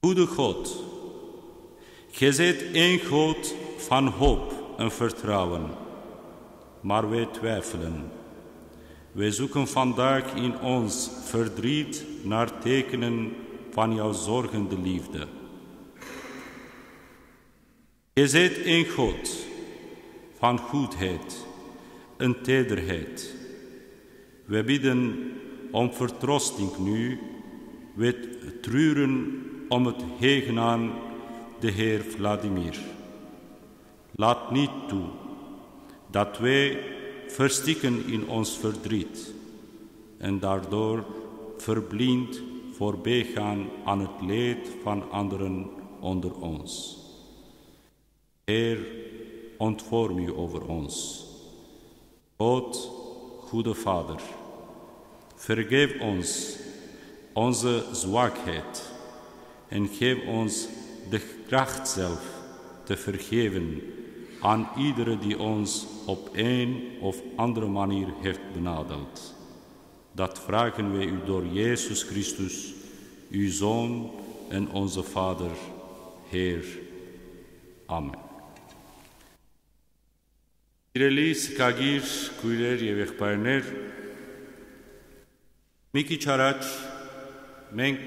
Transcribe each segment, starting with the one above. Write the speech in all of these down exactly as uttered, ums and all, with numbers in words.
Gute Gott, gesetzt euch Gott von Hob und Vertrauen, mar we Zweifelen. Wir suchen von Tag in uns Verdriet nach Tekenen von jou sorgende Liefde. Gesetzt euch Gott von Goodheid und Tederheid. Wir bidden om Vertrosting nu, wir trüren om et Hegen an de Herr Wladimir. Laat niet toe dat we verstikken in ons verdriet en daardoor verblind voorbij gaan aan het leed van anderen onder ons. Herr, ontferm u over ons. Gott, gode Vader, vergeef ons onze zwakheid en geef ons de kracht zelf te vergeven aan iedere die ons op een of andere manier heeft benadeeld. Dat vragen we u door Jezus Christus, uw Zoon en onze Vader, Heer. Amen. Սիրելի սքագիր քույրեր եւ եղբայրներ, մի քիչ առաջ մենք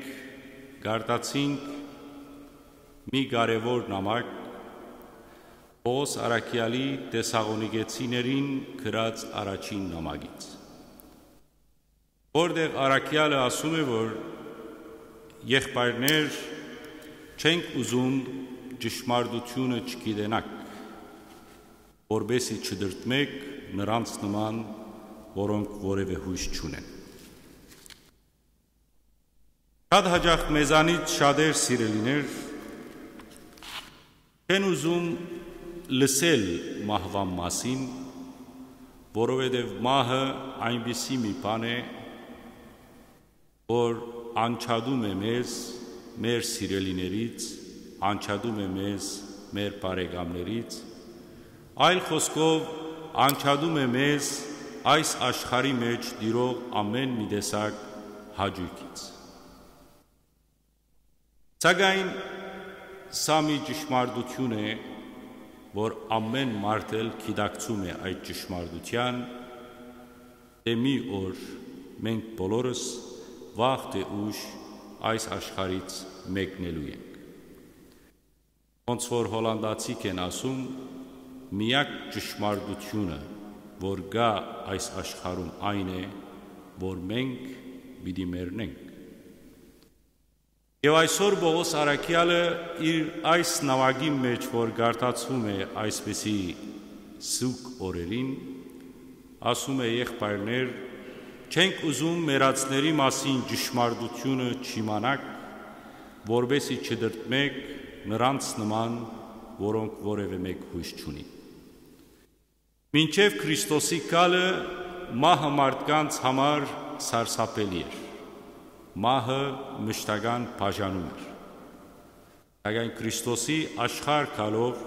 գարտացինք մի կարեւոր նամակ Պողոս Առաքեալի Թեսաղոնիկեցիներին գրած առաջին նամակից, որտեղ Առաքեալը ասում է, որ եղբայրներ, չենք ուզում ճշմարտությունը չգիտենաք, որպեսզի չտրտմեք նրանց նման, որոնք որևէ յոյս չունեն։ Շատ հաճախ մեզանից շատեր, սիրելիներ, չեն ուզում լսել մահուան մասին, որովհետև մահը այնպիսի մի բան է, որ անջատում է մեզ մեր սիրելիներից, անջատում է մեզ մեր բարեկամներից, այլ խոսքով, անջատում է մեզ այս աշխարհի մեջ տիրող ամէն մի տեսակ հաճոյքից։ Սակայն սա մի ճշմարտություն է, որ ամէն մարդ էլ գիտակցում է այդ ճշմարտության, թէ մի օր մենք բոլորս վաղ թէ ուշ այս աշխարհից մեկնելու ենք։ Ոնց որ հոլանդացիք են ասում, միակ ճշմարտությունը, որ կայ այս աշխարհում, այն է, որ մենք պիտի մեռնենք։ Եւ այսօր Պողոս Առաքեալը իր այս նամակին մեջ, որ գարտացվում է այսպիսի սուգ օրերին, ասում է. «Եղբայրներ, չենք ուզում մեռածների մասին ճշմարտությունը չիմանաք, որպեսզի չտրտմեք նրանց նման, որոնք որևէ մէկ յոյս չունին»։ Մինչեւ Քրիստոսի գալը մահը մարդկանց համար սարսափելի էր։ Մահը մշտական բաժանում էր։ Սակայն Քրիստոսի աշխարհ գալով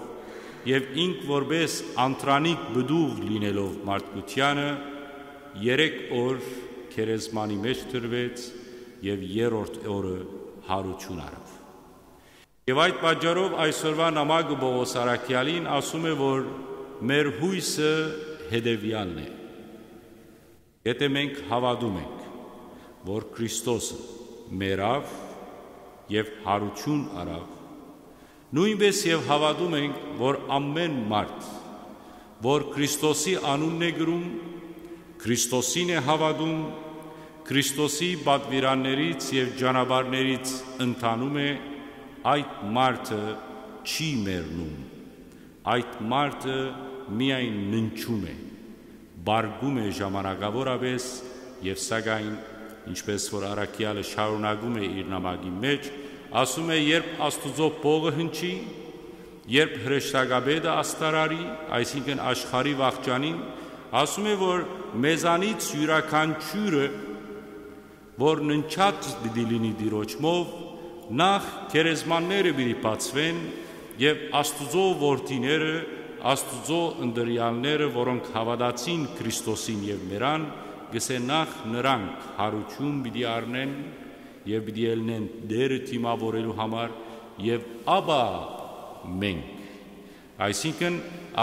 եւ ինք որպէս անդրանիկ պտուղ լինելով մարդկությանը, երեք օր գերեզմանի մեջ դրուեց եւ երրորդ օրը յարութիւն առաւ։ Եւ այդ պատճառով այսօրուայ նամակը Պողոս Առաքեալին ասում է, որ մեր յոյսը հետեւեալն է։ Եթէ մենք հաւատում ենք, որ Քրիստոսը մեռաւ եւ յարութիւն առաւ, նոյնպէս եւ հաւատում ենք, որ ամէն մարդ, որ Քրիստոսի անունն է կրում, Քրիստոսին է հաւատում, Քրիստոսի պատուիրաններից եւ ճանապարհներից ընթանում է, այդ մարդը չի մեռնում, այդ մարդը միայն ննջում է, պառկում է ժամանակաւորապէս եւ սակայն, ինչպէս որ առաքեալը շարունակում է իր նամակի մեջ, ասում է. «Երբ Աստուծոյ փողը հնչի, երբ հրեշտակապետը աստարարի, այսինքն աշխարհի վախճանին, ասում է, որ մեզանից իւրաքանչիւրը, որ ննջած պիտի լինի Տիրոջմով, նախ գերեզմանները պիտի բացուեն եւ Աստուծոյ որդիները, Աստուծոյ ընտրեալները, որոնք հաւատացին Քրիստոսին եւ մեռան, կ'ըսէ, նախ նրանք յարութիւն պիտի առնեն եւ պիտի ելնեն Տէրը դիմաւորելու համար, եւ ապա մենք։ Այսինքն,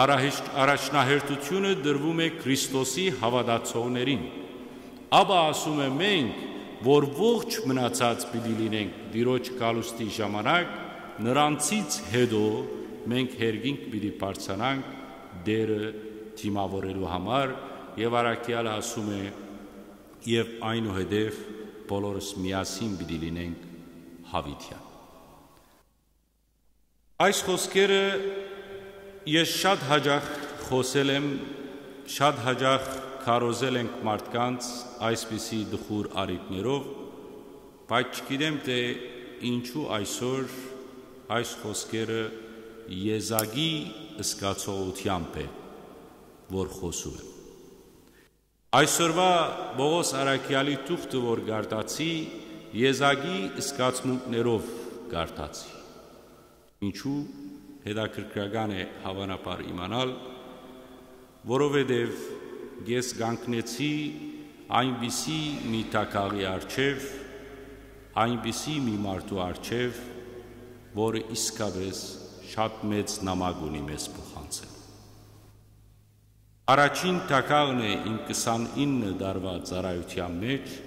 առաջ-, առաջնահերթութիւնը տրուում է Քրիստոսի հաւատացողներին։ Ապա, ասում է, մենք, որ ողջ մնացած պիտի լինենք Տիրոջ գալուստի ժամանակ, նրանցից հետո մենք երկինք պիտի բարձրանանք Տէրը դիմաւորելու համար, եւ առաքեալը ասում է, եւ այնուհետեւ բոլորս միասին պիտի լինենք յաւիտեան։ Այս խօսքերը ես շատ յաճախ խօսել եմ, շատ յաճախ քարոզել ենք մարդկանց այսպիսի տխուր առիթներով, բայց չգիտեմ, թէ ինչու այսօր այս խօսքերը եզակի զգացողութեամբ է, որ խօսում եմ։ Այսօրուայ Պօղոս առաքեալի թուղթը, որ կարդացի, եզակի զգացմունքներով կարդացի։ Ինչու՞, հետաքրքրական է, հաւանաբար, իմանալ, որովհետեւ ես կանգնեցի այնպիսի մի տակաղի առջեւ, այնպիսի մի մարդու առջեւ, որը իսկապէս շատ մեծ նամակ ունի մեզ փոխանցել։ Առաջին տակաղն է իմ քսանինը տարուայ ծառայութեան մէջ,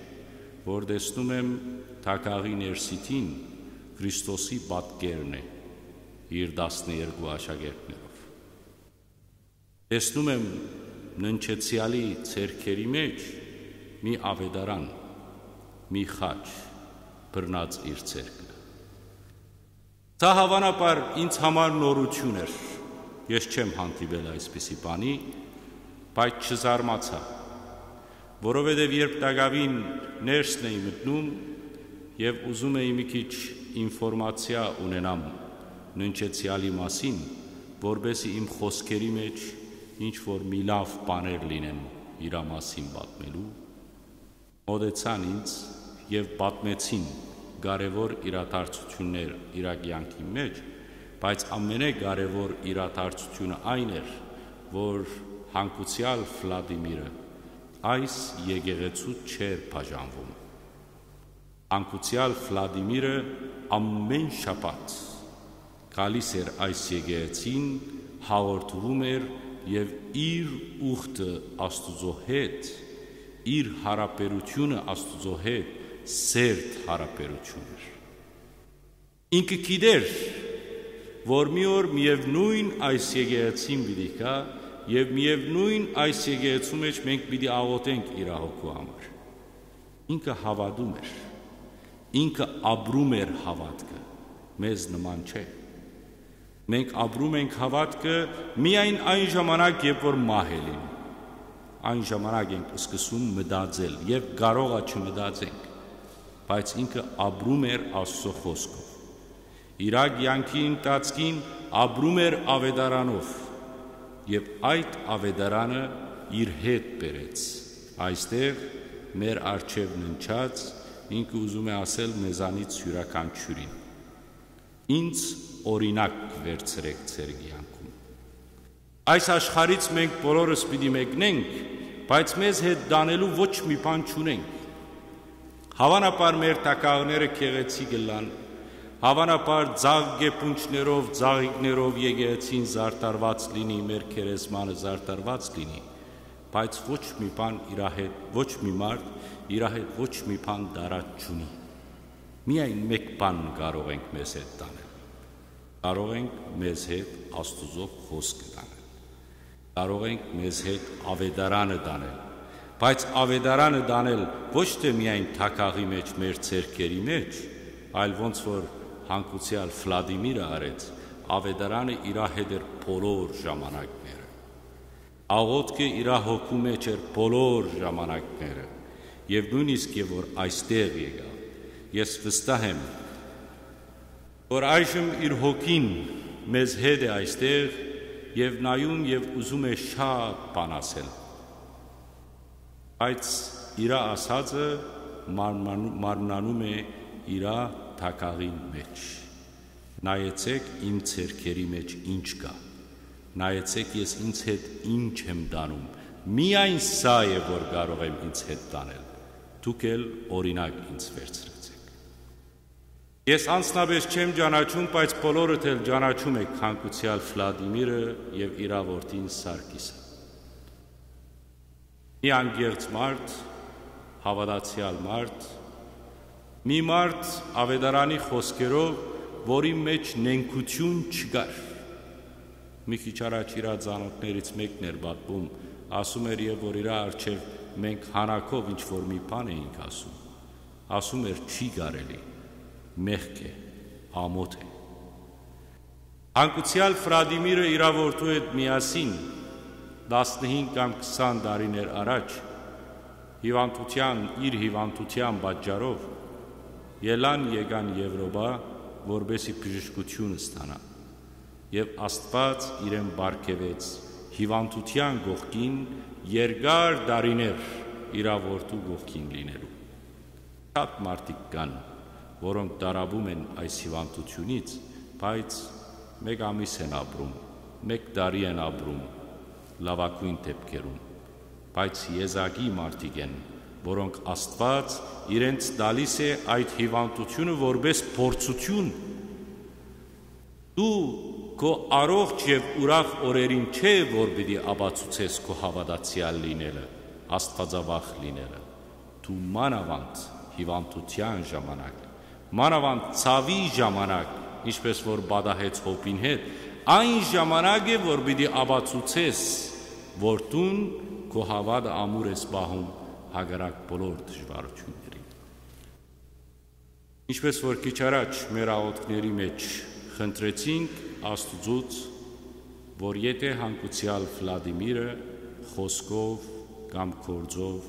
որ տեսնում եմ տակաղի ներսիդին Քրիստոսի պատկերն է իր տասներկու աշակերտներով։ Տեսնում եմ Ննջեցեալի ձեռքերի մէջ մի աւետարան, մի խաչ բռնած իր ձեռքը։ Սա, հաւանաբար, ինձ համար նորութիւն էր։ Ես չեմ հանդիպել այսպիսի բանի, բայց չզարմացայ, որովհետեւ երբ տակաւին ներսն էի մտնում եւ ուզում էի մի քիչ ինֆորմացիա ունենամ Ննջեցեալի մասին, որպէսզի իմ խօսքերի մէջ ինչ որ մի լաւ բաներ լինեն իրա մասին պատմելու, մօտեցան ինձ եւ պատմեցին կարեւոր իրադարձութիւններ իրա կեանքի մէջ, բայց ամենէ կարեւոր իրադարձութիւնը այն էր, որ հանգուցեալ Վլադիմիրը այս եկեղեցու չէր բաժանվում։ Հանգուցեալ Վլադիմիրը ամեն շաբաթ գալիս էր այս եկեղեցին, հաղորդում էր եւ իր ուխտը Աստուծոյ հետ, իր յարաբերութիւնը Աստուծոյ հետ սերտ յարաբերութիւն էր։ Ինքը գիտեր, որ մի օր միեւնոյն այս եկեղեցին պիտի գայ եւ միեւնոյն այս եկեղեցու մէջ մենք պիտի աղօթենք իր հոգու համար։ Ինքը հաւատում էր, ինքը ապրում էր հաւատքը, մեզ նման չէ։ Մենք ապրում ենք հաւատքը միայն այն ժամանակ, երբ որ մահ է լինում։ Այն ժամանակ ենք սկսում մտածել եւ կարող է չմտածենք, բայց ինքը ապրում էր Աստուծոյ խօսքով։ Իրա կեանքի ընթացքին ապրում էր աւետարանով եւ այդ աւետարանը իր հետ բերեց այստեղ, մեր առջեւ ննջած, ինքը ուզում է ասել մեզանից իւրաքանչիւրին. «Ինձ օրինակ վերցրէք ձեր կեանքում»։ Այս աշխարհից մենք բոլորս պիտի մեկնենք, բայց մեզ հետ տանելու ոչ մի բան չունենք։ Հաւանաբար մեր տակաղները գեղեցիկ ըլլան, հաւանաբար ձաղ կեպունջներով, ձաղիկներով եկեղեցին զարդարուած լինի, մեր գերեզմանը զարդարուած լինի, բայց ոչ մի բան իրա հետ, ոչ մի մարդ իրա հետ ոչ մի բան տարած չունի։ Միայն մէկ բան կարող ենք մեզ հետ տանել։ Կարող ենք մեզ հետ Աստուծոյ խօսքը տանել։ Կարող ենք մեզ հետ աւետարանը տանել, բայց աւետարանը տանել ոչ թէ միայն տակաղի մէջ, մեր ձեռքերի մէջ, այլ ոնց որ հանգուցեալ Վլադիմիրը արեց, աւետարանը իրա հետ էր բոլոր ժամանակները։ Աղօթքը իրա հոգու մէջ էր բոլոր ժամանակները, եւ նոյնիսկ եւ որ այստեղ եկայ, ես վստահ եմ, որ այժմ իր հոգին մեզ հետ է այստեղ եւ նայում եւ ուզում է շատ բան ասել։ Բայց իրա ասածը մարմնան-, մարմնանում է իրա տակաղին մէջ։ «Նայեցէք իմ ձեռքերի մէջ ինչ կայ, նայեցէք ես ինձ հետ ինչ եմ տանում, միայն սա է, որ կարող եմ ինձ հետ տանել, դուք էլ օրինակ ինձ վերցրեցէք»։ Ես անձնապէս չեմ ճանաչում, բայց բոլորդ էլ ճանաչում էք հանգուցեալ Վլադիմիրը եւ իրա որդին Սարգիսը։ Մի անկեղծ մարդ, հաւատացեալ մարդ, մի մարդ, աւետարանի խօսքերով, որին մէջ նենգութիւն չկար։ Մի քիչ առաջ իրա ծանօթներէն մէկն էր պատմում, ասում էր, եւ որ իրա առջեւ մենք հանակով ինչ որ մի բան էինք ասում։ Ասում էր, չի կարելի, մեղք է, ամօթ է։ Հանգուցեալ Վլադիմիրը իրա որդու հետ միասին, տասնհինգ կամ քսան տարիներ առաջ, հիւանդութեան, իր հիւանդութեան պատճառով, ելան եկան Եւրոպա, որպէսզի բժշկութիւն ստանան։ Եւ Աստուած իրեն պարգեւեց հիւանդութեան կողքին, երկար տարիներ իրա որդու կողքին լինելու։ Շատ մարդիկ կան, որոնք տառապում են այս հիւանդութիւնից, բայց մէկ ամիս են ապրում, մէկ տարի են ապրում լաւագոյն դէպքերուն, բայց եզակի մարդիկ են, որոնք Աստուած իրենց տալիս է այդ հիւանդութիւնը որպէս փորձութիւն։ Դու քո առողջ եւ ուրախ օրերին չէ, որ պիտի ապացուցես քո հաւատացեալ լինելը, աստուածավախ լինելը։ Դու մանաւանդ հիւանդութեան ժամանակ, մանաւանդ ցաւի ժամանակ, ինչպէս որ պատահեց Յոբին հետ, այն ժամանակ է, որ պիտի ապացուցես, որ դուն քո հաւատը ամուր ես պահում հակառակ բոլոր դժուարութիւններին։ Ինչպէս որ քիչ առաջ մեր աղօթքների մէջ խնդրեցինք Աստուծոց, որ եթէ հանգուցեալ Վլադիմիրը խօսքով կամ գործով,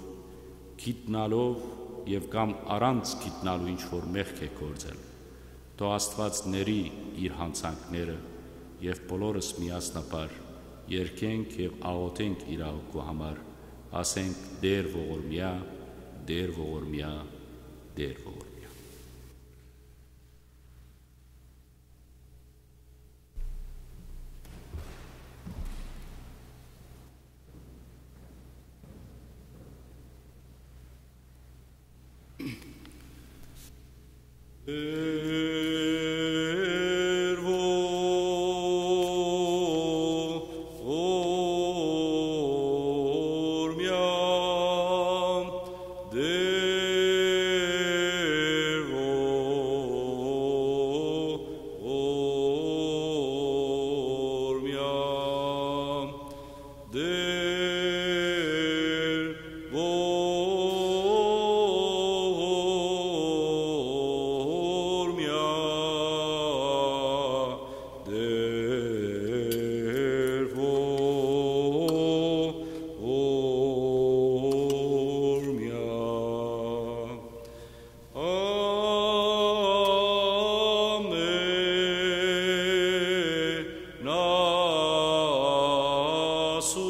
գիտնալով եւ կամ առանց գիտնալու ինչ որ մեղք է գործել, թող Աստուած ների իր յանցանքները եւ բոլորս միասնաբար երգենք եւ աղօթենք իր հոգու համար, ասենք. «Տէր ողորմեայ, Տէր ողորմեայ, Տէր ողորմեայ»։ Տէր ողորմեայ, Տէր ողորմեայ, Տէր ողորմեայ, Տէր ողորմեայ։ Ամէն ասու